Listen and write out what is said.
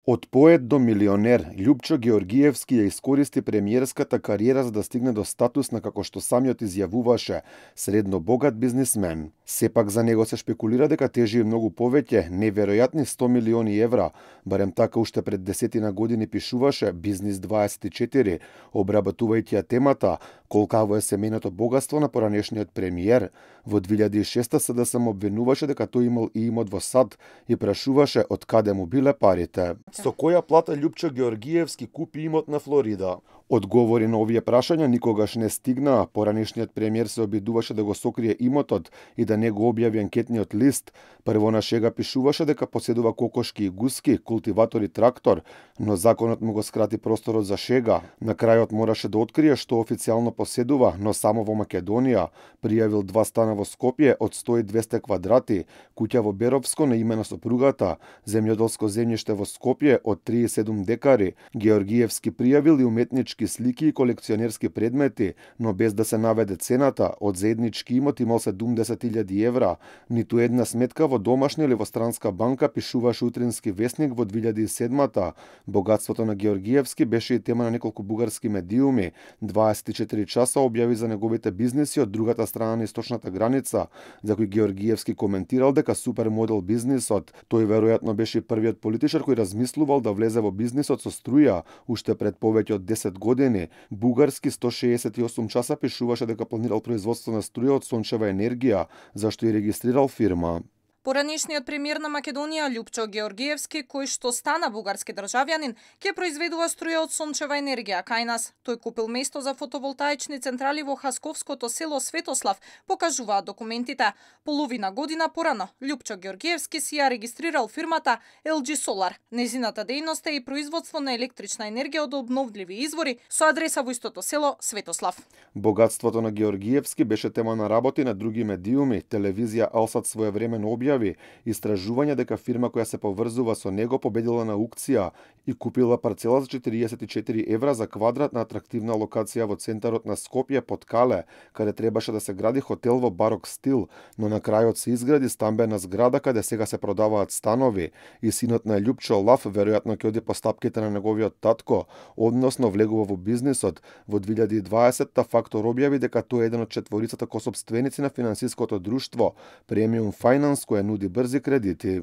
Од поет до милионер, Љупчо Георгиевски ја искористи премиерската кариера за да стигне до статус на, како што самиот изјавуваше, средно богат бизнисмен. Сепак за него се шпекулира дека тежи многу повеќе, неверојатни 100 милиони евра, барем така уште пред десетина години пишуваше Бизнис 24, обработувајќи ја темата колкаво е семејното богатство на поранешниот премиер. Во 2006 СДСМ обвинуваше дека тој имал и имот во САД и прашуваше од каде му биле парите. Со која плата Љупчо Георгиевски купи имот на Флорида? Одговори на овие прашања никогаш не стигнаа. Поранешниот премиер се обидуваше да го сокрие имотот и да не го објави анкетниот лист. Прво на шега пишуваше дека поседува кокошки и гуски, култиватор и трактор, но законот му го скрати просторот за шега. На крајот мораше да открие што официјално поседува, но само во Македонија. Пријавил 2 стана во Скопје од 100 и 200 квадрати, куќа во Беровско на име на сопругата, земјоделско земјиште во Скопје од 37 декари. Георгиевски пријавил и уметнички слики и колекционерски предмети, но без да се наведе цената. Од заеднички имот имал 70.000 евра. Ниту една сметка во домашна или во странска банка, пишуваше Утрински весник во 2007-та. Богатството на Георгиевски беше и тема на неколку бугарски медиуми. 24 часа објави за неговите бизниси од другата страна на источната граница, за кој Георгиевски коментирал дека супермодел бизнисот. Тој веројатно беше првиот политичар кој размислувал да влезе во бизнисот со струја уште пред повеќе од 10 години. Бугарски 168 часа пишуваше дека планирал производство на струја од сончева енергија, зашто и регистрирал фирма. Поранешниот премиер на Македонија Љупчо Георгиевски, кој што стана бугарски државјанин, ќе произведува струја од сончева енергија кај нас. Тој купил место за фотоволтаични централи во хасковското село Светослав, покажуваат документите. Половина година порано, Љупчо Георгиевски си ја регистрирал фирмата LG Solar. Незината дејност е и производство на електрична енергија од обновливи извори со адреса во истото село Светослав. Богатството на Георгиевски беше тема на работи на други медиуми. Телевизија Алсат своевремено објави истражување дека фирма која се поврзува со него победила на аукција и купила парцела за 44 евра за квадрат на атрактивна локација во центарот на Скопје под Кале, каде требаше да се гради хотел во барок стил, но на крајот се изгради стамбена зграда каде сега се продаваат станови и синот на Љупчо Лав веројатно ќе оди по стапките на неговиот татко, односно влегува во бизнисот. Во 2020-та Фактор објави дека тој е еден од четворицата косопственици на финансиското друштво Premium Finance, која нуди брзи кредити.